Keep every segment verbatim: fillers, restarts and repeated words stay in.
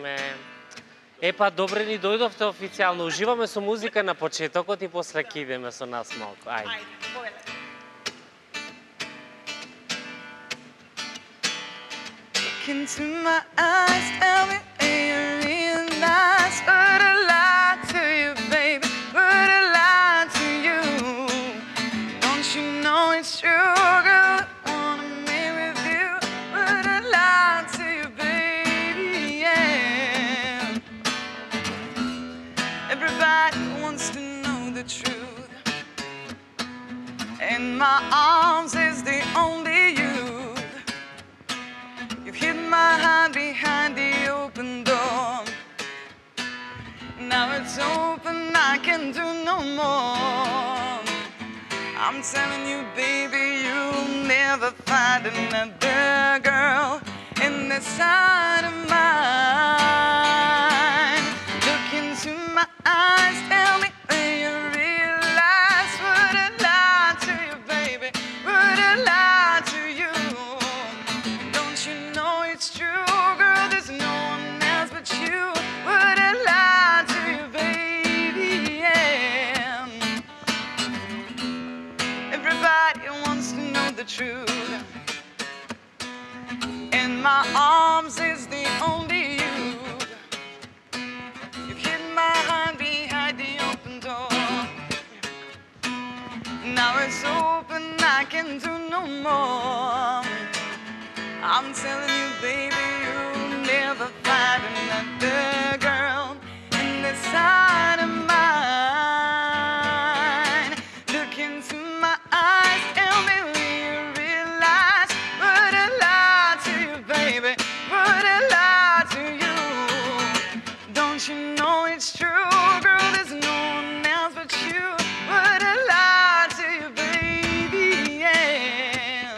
сме. Епа, добре ни дојдовте официјално. Уживаме со музика на почетокот и после ќе идеме со нас малку. Ајде. Ајде, повеле. Look into my eyes, tell me do you realize what I lied to you, baby, what I lied to you. Don't you know it's true, girl, I wanna be with you, what I lied to you, baby, yeah. Everybody wants to know the truth. In my arms is the only you. Hid my hand behind the open door. Now it's open, I can do no more. I'm telling you, baby, you'll never find another girl in this side of mine. Look into my eyes, tell me when you realize what I lied to you, baby, what I lied to you. It's true, girl, there's no one else but you. Would I lie to you, baby? Yeah. Everybody wants to know the truth. In my arms is the only you. You've hid my hand behind the open door. Now it's open, I can do no more. I'm telling you, baby, you'll never find another girl in this side of mine. Look into my eyes, tell me when you realize what I lied to you, baby, what I lied to you. Don't you know it's true, girl, there's no one else but you. What I lied to you, baby, yeah.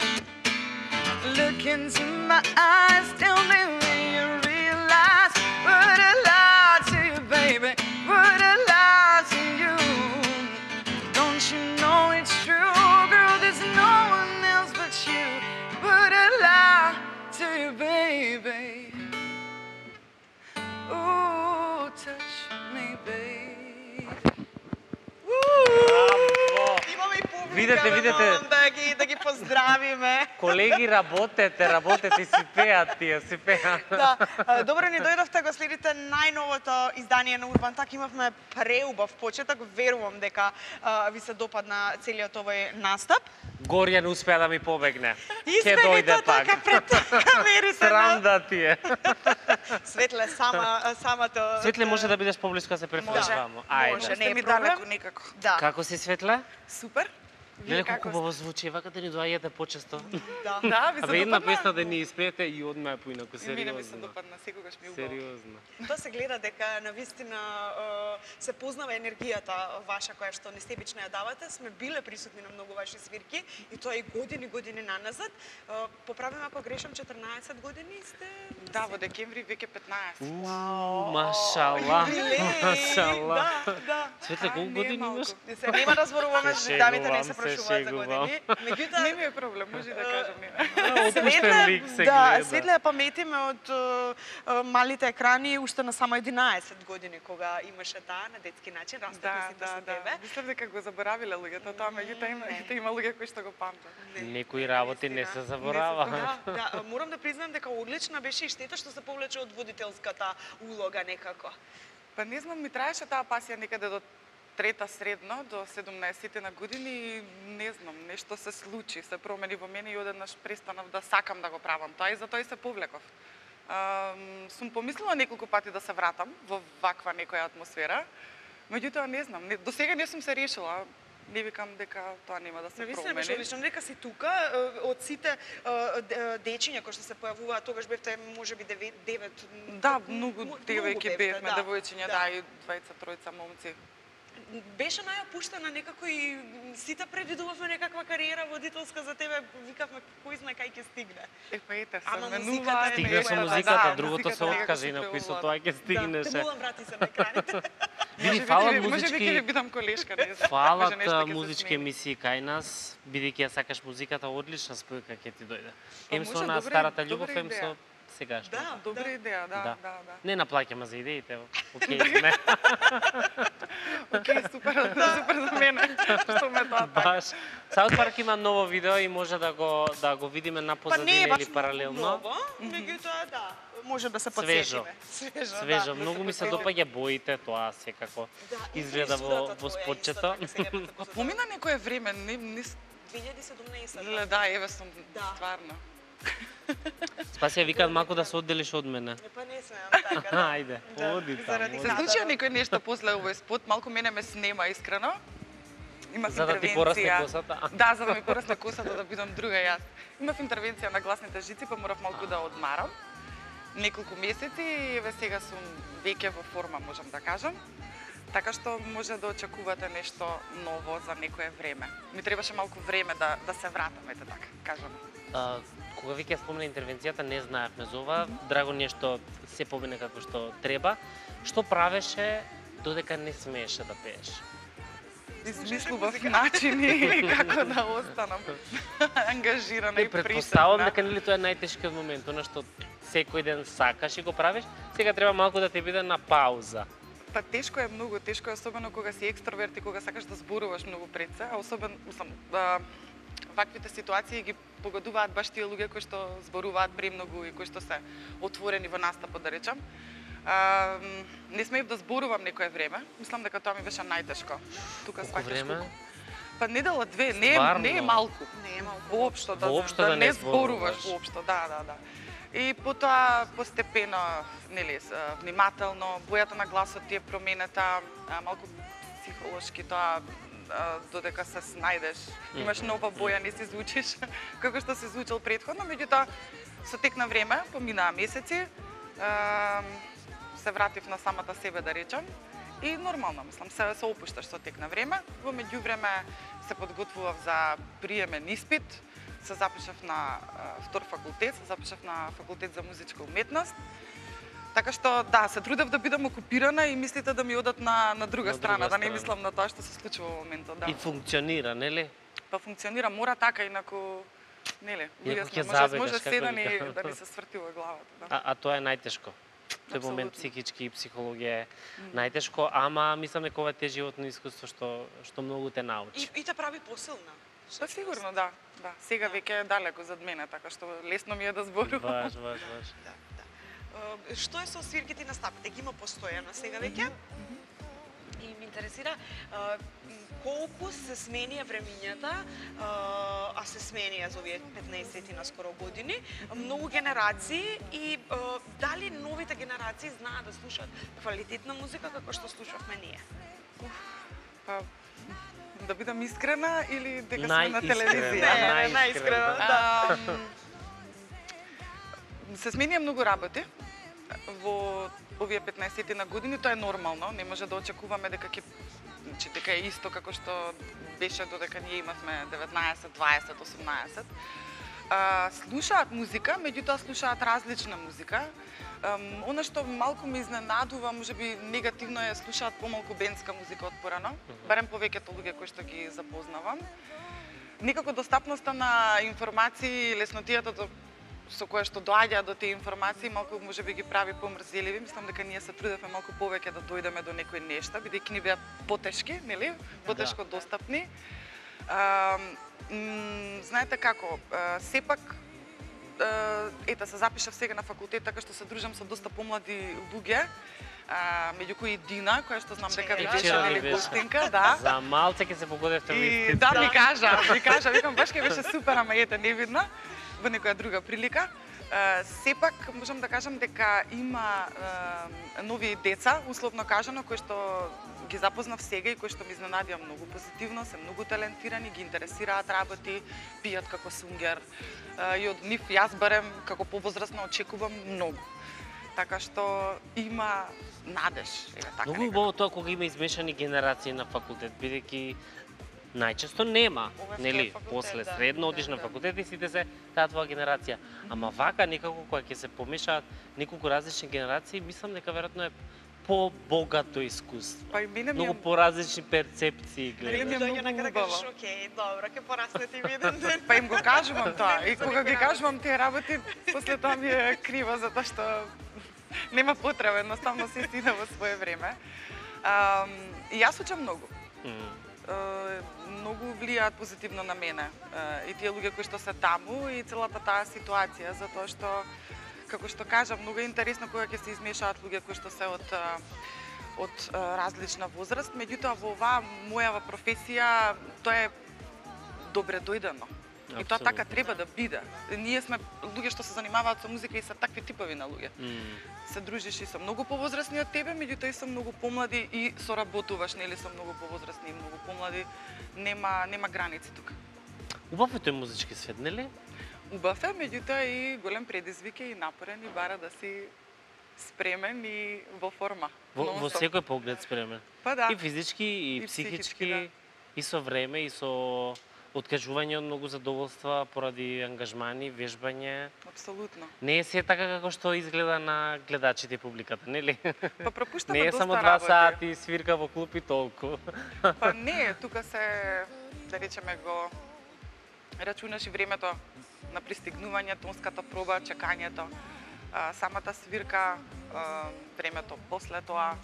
Look into my eyes, tell me when you realize what I lied to you, baby, what I lied to you. Don't you know it's true, girl, there's no one else but you. What I lied to you, baby. Ooh, touch me, baby. Имаме и публика, Видете, видете. да ги да ги поздравиме. Колеги, работете, работете и си пеат тие, си пеат. Да, добро ни дојдовте, го следите најновото издание на Урбан Так. Имавме преубав почеток, верувам дека а, ви се допадна целиот овој настап. Горја не успеа да ми побегне. Ќе Испените дојде пак. така пред камерите. Срам да ти е. Светле, сама, самото... Светле, може да бидеш поблиску да се префрлиш Може, вамо. може, Ајде. не е ми проблем. далеко никако. Да. Како си, Светле? Супер. Леле, Вие колку како хубаво звучи, вака да ни доаѓате почесто. Да. Да, ви се Абе, една допадна? песна да ни испеете и одма е поинаку, И мене ми се сериозно. допадна, секогаш ми е убаво. Сериозно. Тоа се гледа дека навистина е, се познава енергијата ваша која што несебично ја давате. Сме биле присутни на многу ваши свирки и тоа и години години наназад. Е, Поправим ако грешам, четрнаесет години сте. Да, во декември веќе петнаесет. Уу, машала. Юбилеј, Машала. Да, да. Светле, колку не е години малку. имаш? Не се нема да зборуваме, Се дамите не шегувам, се се прошуваат за шегувам. години. Меѓутоа, Не ми е проблем, може да кажам не. Опуштен лик се да, гледа. Светле ја паметиме од е, е, малите екрани уште на само единаесет години кога имаше таа на детски начин, растат Да, сите да, со да. тебе. Мислам дека го заборавиле луѓето тоа, меѓутоа има, Не. има луѓе кои што го памтат. Некои работи не се заборава. Да, да, морам да признам дека одлична беше и штета што се повлече од водителската улога некако. Па не знам, ми траеше таа пасија некаде до трета средно, до седумнаесетте на години и не знам, нешто се случи, се промени во мене и одеднаш престанав да сакам да го правам тоа и затоа и се повлеков. Um, сум помислила неколку пати да се вратам во ваква некоја атмосфера, меѓутоа не знам, не, до сега не сум се решила. Не викам дека тоа нема да се Навистина беше промени. одлично, дека си тука, е, од сите е, д- дечиња кои што се појавуваат, тогаш бевте можеби девет, девет Да, многу девојки бевте, бевме, девојчиња, да, и двајца, тројца момци. Беше најопуштена некако и сите предвидувавме некаква кариера водителска за тебе, викавме кој знае кај ќе стигне. Е, па ете, се Ама менува. музиката е Стигне со Да, музиката, да, другото музиката се некако откаже, се инаку и со преувала. тоа ќе Да, стигнеше. Тимулан врати се на екраните. Види, Може фалат би ќе- Може би ќе ви музички, бидам колешка, не знам. фалат Може нешто ќе се музички смени. емисии кај нас, бидејќи ја сакаш музиката, одлична спојка ќе ти дојде. Па Ем со може, на добра- старата добра љубов, ем со идеја. сегаш. Да, Добра да. идеја, да, Да. да, да. Не наплаќаме за идеите, окей сме. Океј, супер, супер за мене. Што ме тоа така. Баш. Саут Парк има ново видео и може да го да го видиме на Па не е позадина баш или паралелно. ново, меѓутоа да, може да се Свежо. подсетиме. Свежо, Свежо, да. многу ми се подсетиме. допаѓа боите, тоа секако Да, и изгледа во фризурата во твоја спотчето. исто така сега ме Па помина некое време, не, не, две илјади и седумнаесетта. Леле, да, еве сум, Да. стварно. Спасија викаат малку да се одделиш од мене. Е, па не сме така, да. Ајде, Да, оди заради таму. Се случија некој нешто после овој спот, малку мене ме снема искрено. Имав За да ти интервенција. порасне косата? Да, за да ми порасне косата да бидам друга јас. Имав интервенција на гласните жици, па морав малку да одмарам. Неколку месеци и еве сега сум веќе во форма, можам да кажам. Така што може да очекувате нешто ново за некое време. Ми требаше малку време да да се вратам, ете така, кажам. А, кога веќе спомна интервенцијата, не знаевме за ова. Драго нешто се помине како што треба. Што правеше додека не смееше да пееш? Измислував начини како да останам ангажирана и Не предпоставам присутна. дека нели тоа е најтешкиот момент, она што секој ден сакаш и го правиш, сега треба малку да те биде на пауза. Па тешко е многу, тешко е особено кога си екстроверт и кога сакаш да зборуваш многу пред се, а особено сам да, ваквите ситуации ги погодуваат баш тие луѓе кои што зборуваат премногу и кои што се отворени во настапот, да речам. А, не смеев да зборувам некое време. Мислам дека тоа ми беше најтешко. Тука Колку сваќаш време? колку. Па недела две, не е, Стварно? не е малку. Не е малку. Воопшто да, Воопшто да, да не не зборуваш зборуваш. воопшто, да, да, да. И потоа постепено, нели, с- внимателно, бојата на гласот ти е променета, а, малку психолошки тоа а, додека се снајдеш, имаш нова боја, не си звучиш како што си звучал претходно, меѓутоа со тек на време, поминаа месеци, а, се вратив на самата себе, да речам, и нормално, мислам, се, се опушташ со тек на време. Во меѓувреме се подготвував за приемен испит, се запишав на а, втор факултет, се запишав на факултет за музичка уметност. Така што, да, се трудев да бидам окупирана и мислите да ми одат на, на друга На страна, друга да не страна. мислам на тоа што се случува во моментот, да. И функционира, нели? Па функционира, мора така, инаку, нели, Иако луѓе ќе сме, може, забегаш, може како се да ни, викам. да ни се сврти во главата, да. А, а тоа е најтешко. Тој момент Апсолутно. психички и психологија е најтешко, ама мислам дека ова е те животно искуство што што многу те научи. И, и те прави посилна. Па сигурно, да. Да, сега веќе е далеко зад мене, така што лесно ми е да зборувам. Баш, баш, баш. Да, да. Е, Што е со свирките и настапите? Ги има постојано сега веќе? И ме интересира е, колку се сменија времињата, е, а се сменија за овие петнаесет на скоро години, многу генерации и е, дали новите генерации знаат да слушаат квалитетна музика како што слушавме ние? Па, да бидам искрена или дека сме на Најискрена, телевизија? Не, најискрена. најискрено, да. Ам, се сменија многу работи во овие петнаесет на години, тоа е нормално, не може да очекуваме дека ќе значи дека е исто како што беше додека ние имавме деветнаесет, дваесет, осумнаесет. А, слушаат музика, меѓутоа слушаат различна музика. Um, она што малку ме изненадува, можеби негативно е, слушаат помалку бендска музика од порано, барем повеќето луѓе кои што ги запознавам. Некако достапноста на информации, леснотијата до, со која што доаѓа до тие информации, малку можеби ги прави помрзеливи. Мислам дека ние се трудевме малку повеќе да дојдеме до некои нешта, бидејќи ни беа потешки, нели? Потешко достапни. А, м, знаете како, а, сепак ете, се запишав сега на факултет, така што се дружам со доста помлади луѓе, а, меѓу кои Дина, која што знам дека ви Вчера беше ни нели беше. гостинка, да. За малце ќе се погодевте во И истите. да, ми кажа, ми кажа, викам баш ќе беше супер, ама ете не видна во некоја друга прилика. Е, сепак можам да кажам дека има е, нови деца, условно кажано, кои што ги запознав сега и кои што ми изненадија многу позитивно, се многу талентирани, ги интересираат работи, пијат како сунгер. Е, и од нив јас барем како повозрасна очекувам многу. Така што има надеж, еве така. Многу некако. убаво тоа кога има измешани генерации на факултет, бидејќи најчесто нема, Ова е нели, втор факултет, после да, средно да, одиш на да. факултет и сите се таа твоја генерација. Ама вака некако кога ќе се помешаат неколку различни генерации, мислам дека веројатно е побогато искуство. Па и мене ми Многу е- поразлични перцепции Мене ми гледаш. е Дојѓа на многу крај да убаво. кажеш, окей, добро, ќе пораснете и ви еден ден. Па им го кажувам тоа. Не, И за кога некои ги работи. кажувам тие работи, после тоа ми е криво, затоа што нема потреба, едноставно се стида во свое време. Ам, и јас учам многу. Мм. Е, многу влијаат позитивно на мене. Е, и тие луѓе кои што се таму и целата таа ситуација, затоа што, како што кажам, многу е интересно кога ќе се измешаат луѓе кои што се од е, од е, различна возраст, меѓутоа во оваа мојава професија тоа е добре дојдено. И тоа Апсолутно. така треба да биде. Ние сме луѓе што се занимаваат со музика и се такви типови на луѓе. Мм. Се дружиш и со многу повозрасни од тебе, меѓутоа и со многу помлади и соработуваш нели со многу повозрасни и многу помлади. Нема нема граници тука. Убав е тој музички свет, нели? Убав е, меѓутоа и голем предизвик е и напорен и бара да си спремен и во форма. Во, во нон-стоп. секој поглед спремен. Па да. И физички, и, И психички, психички, да. и со време, и со откажување од многу задоволства поради ангажмани, вежбање. Апсолутно. Не е се така како што изгледа на гледачите и публиката, нели? Па пропуштаме Не е доста само два работи. сати свирка во клуб и толку. Па не, тука се, да речеме, го рачунаш и времето на пристигнување, тонската проба, чекањето, а, самата свирка, а, времето после тоа,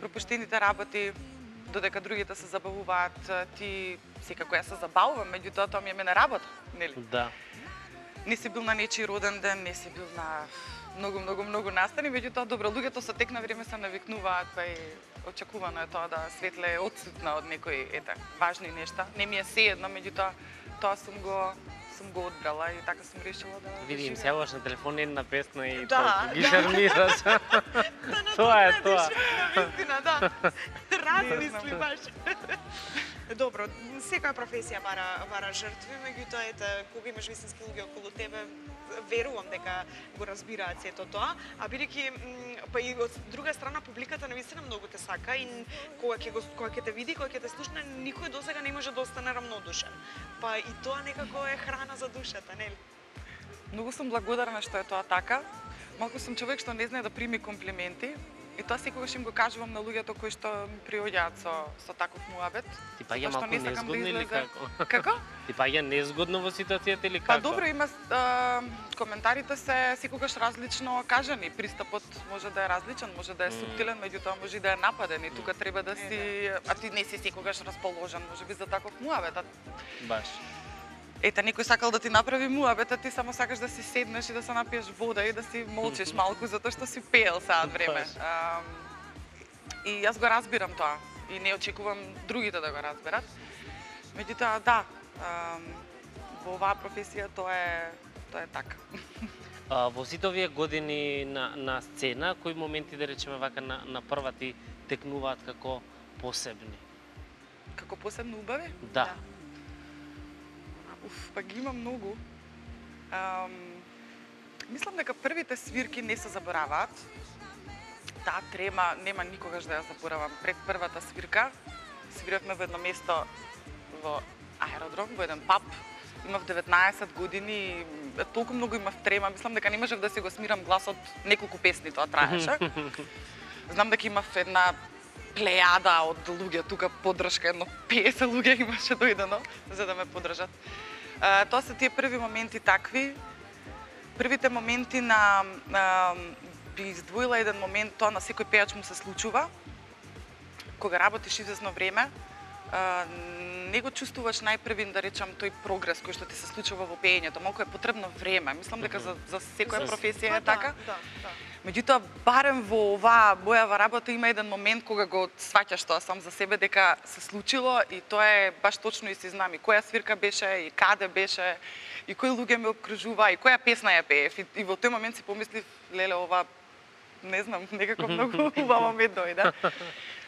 пропуштените работи, додека другите се забавуваат, а, ти секако ја се забавувам, меѓутоа тоа ми е мене работа, нели? Да. Не си бил на нечи роден ден, не си бил на многу, многу, многу настани, меѓутоа добро, луѓето со тек на време се навикнуваат, па и очекувано е тоа да Светле е отсутна од некои ете важни нешта. Не ми е сеедно, меѓутоа тоа сум го сум го одбрала и така сум решила да Види, им живеам. сјаваш на телефон една песна и Да, толку ги да. шармираш. Тоа е тоа. Вистина, да. Не Размисли знам. баш. Добро, секоја професија бара бара жртви, меѓутоа ете кога имаш вистински луѓе околу тебе, верувам дека го разбираат сето тоа, а бидејќи м, па и од друга страна публиката навистина многу те сака и н- кога ќе го кога ќе те види, кога ќе те слушне, никој досега не може да остане равнодушен. Па и тоа некако е храна за душата, нели? Многу сум благодарна што е тоа така. Малку сум човек што не знае да прими комплименти. И тоа секогаш им го кажувам на луѓето кои што ми приоѓаат со со таков муабет. Ти па ја Затоа што малку не сакам да незгодно или излезе- како? Како? Ти па ја незгодно во ситуацијата или како? Па добро, има а, коментарите се секогаш различно кажани. Пристапот може да е различен, може да е Мм. суптилен, меѓутоа може и да е нападен и тука треба да си, а ти не си секогаш расположен, можеби за таков муабет. А Баш. ете, некој сакал да ти направи муабет, а ти само сакаш да си седнеш и да се напиеш вода и да си молчиш малку затоа што си пеел саат време. Баш. Ам, и јас го разбирам тоа и не очекувам другите да го разберат. Меѓутоа, да, ам, во оваа професија тоа е тоа е така. А, во сите овие години на, на сцена, кои моменти, да речеме вака, на, на прва ти текнуваат како посебни? Како посебно убави? Да. Уф, па ги има многу. Ам, мислам дека првите свирки не се забораваат. Таа трема нема никогаш да ја заборавам. Пред првата свирка свиравме во едно место во аеродром, во еден паб. Имав деветнаесет години и толку многу имав трема. Мислам дека не можев да си го смирам гласот, неколку песни тоа траеше. Знам дека имав една плејада од луѓе тука поддршка, едно песет луѓе имаше дојдено за да ме поддржат. А, тоа се тие први моменти такви. Првите моменти на, на би издвоила еден момент, тоа на секој пејач му се случува. Кога работиш извесно време, а, не го чувствуваш најпрвин, да речам, тој прогрес кој што ти се случува во пеењето. Малку е потребно време. Мислам дека за, за секоја За- професија Па е така. Да, да. Меѓутоа, барем во оваа бојава работа има еден момент кога го сваќаш тоа сам за себе дека се случило и тоа е баш точно и си знам и која свирка беше и каде беше и кои луѓе ме обкружува и која песна ја пеев и, и во тој момент си помислив леле ова не знам, некако многу убаво ми дојде.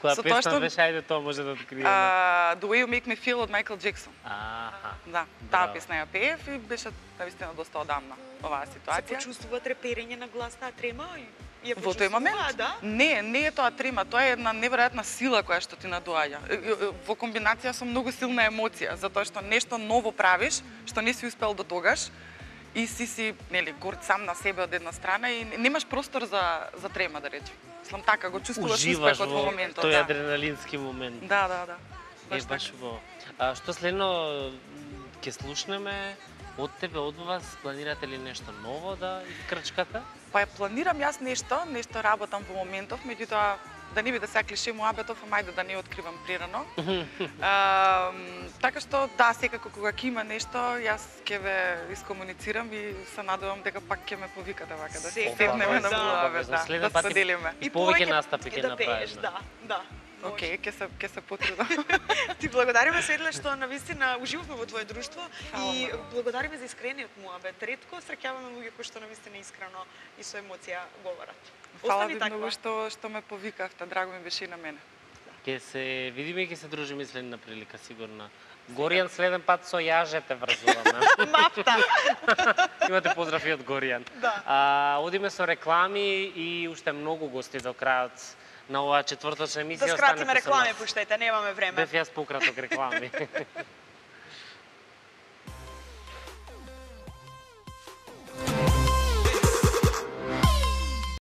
Која Со тоа песна што- беше, ајде тоа може да откриеме. А, The Way You Make Me Feel од Майкл Джексон. Аха. Да, таа Браво. песна ја пеев и беше навистина доста одамна оваа Се ситуација. почувствува треперење на глас, таа трема и ја Во тој момент? почувствува, да? Не, не е тоа трема, тоа е една неверојатна сила која што ти надоаѓа. Е, е, е, Во комбинација со многу силна емоција, затоа што нешто ново правиш, што не си успел до тогаш, и си си, нели, горд сам на себе од една страна и немаш простор за за трема, да речем. мислам така, го чувствуваш Уживаш успехот во во моментот. тој Да. адреналински момент. Да, да, да. Е, Баш баш така. во. А што следно ќе слушнеме од тебе, од вас, планирате ли нешто ново да искрчкате? Па ја планирам јас нешто, нешто работам во моментов, меѓутоа да не биде сега клише муабетов, ама ајде да не откривам прерано. А, така што да, секако кога ќе има нешто, јас ќе ве искомуницирам и се надевам дека пак ќе ме повикате вака да се Секако, седнеме на да. муабет, да, Следен да пат и- споделиме. И повеќе настапи ќе да пееш, направиме. да, да. Може. Океј, ќе се ќе се потрудам. Ти благодариме, Светле, што навистина уживавме во твое друштво Фала и многу. благодариме за искрениот муабет. Ретко среќаваме луѓе кои што навистина искрено и со емоција говорат. Фала Остани ви таква. многу што што ме повикавте, драго ми беше и на мене. Ќе се видиме и ќе се дружиме следна прилика, сигурно. Горијан следен пат со јажете врзуваме. Мапта. Имате поздрав и од Горијан. Да. А, одиме со реклами и уште многу гости до крајот на оваа четврточна Да емисија. скратиме Останете со реклами, нас. пуштајте, немаме време. Бев јас пократок реклами.